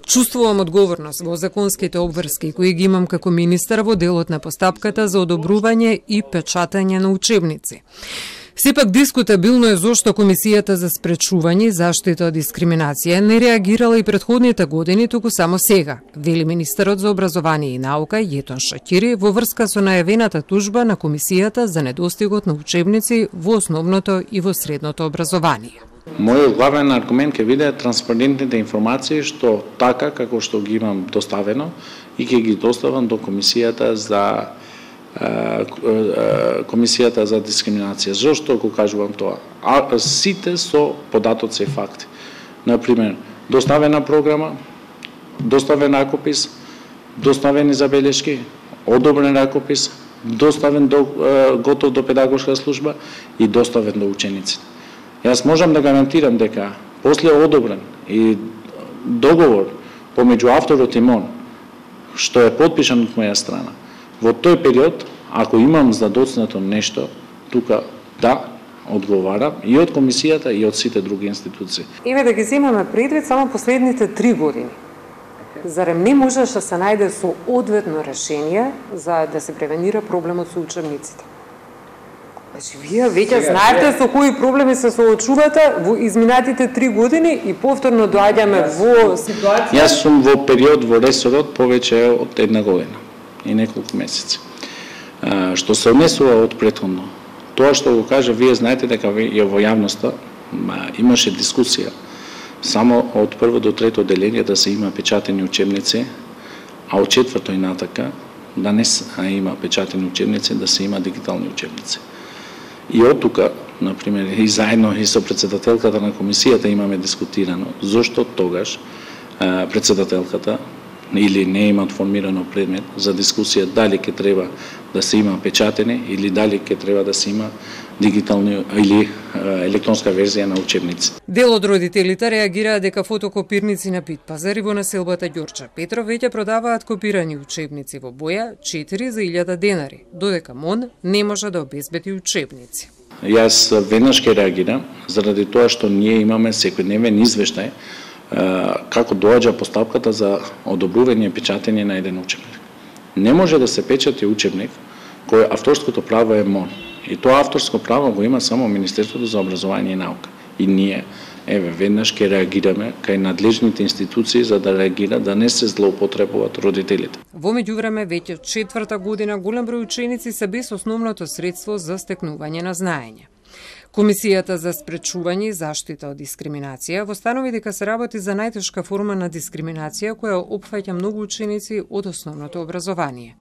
Чувствувам одговорност во законските обврски кои ги имам како министар во делот на постапката за одобрување и печатање на учебници. Сепак дискутабилно е зошто Комисијата за спречување и заштита од дискриминација не реагирала и претходните години, туку само сега, вели министерот за образование и наука Јетон Шакири во врска со најавената тужба на Комисијата за недостигот на учебници во основното и во средното образование. Мојот главен аргумент ќе биде транспарентните информации што така како што ги имам доставено и ќе ги доставам до Комисијата за дискриминација. Зошто го кажувам тоа? Сите со податоци и факти. Например, доставена програма, доставен ракопис, доставени забелешки, одобрен ракопис, доставен готов до педагошка служба и доставен до учениците. Јас можам да гарантирам дека после одобрен и договор помеѓу авторот и МОН, што е подпишан од моја страна, во тој период, ако имам задоцнато нешто, тука да одговарам и од Комисијата и од сите други институции. Еве да ги земаме предвид само последните 3 години. Зарем не можеш да се најде со одветно решение за да се превенира проблемот со учебниците? Значи, вие веќе знаете со кои проблеми се соочувате во изминатите 3 години и повторно доаѓаме во ситуација. Јас сум во период во ресорот повеќе од 1 година и неколку месеци. Што се однесува од претходно. Тоа што го кажа, вие знаете дека во јавноста имаше дискусија само од прво до трето одделение да се има печатени учебници, а од четврто и натака да не има печатени учебници, да се има дигитални учебници. И од тука, например, и заедно и со председателката на Комисијата имаме дискутирано зошто тогаш председателката или не имат формирано предмет за дискусија дали ќе треба да се има печатени или дали ќе треба да се има дигитални или електронска верзија на учебници. Дел од родителите реагираа дека фотокопирници на Бит пазар и во населбата Ѓорче Петров веќе продаваат копирани учебници во боја 4 за 1000 денари, додека МОН не може да обезбеди учебници. Јас веднаш ќе реагирам заради тоа што ние имаме секојдневен извештај како доаѓа постапката за одобрување и печатање на еден учебник. Не може да се печати учебник кој авторското право е МОН. И тоа авторско право го има само Министерството за образование и наука. И ние, веднаш ќе реагираме кај надлежните институции за да реагира да не се злоупотребуваат родителите. Во меѓувреме, веќе 4-та година голем број ученици се без основното средство за стекнување на знаење. Комисијата за спречување и заштита од дискриминација востанови дека се работи за најтешка форма на дискриминација која опфаќа многу ученици од основното образование.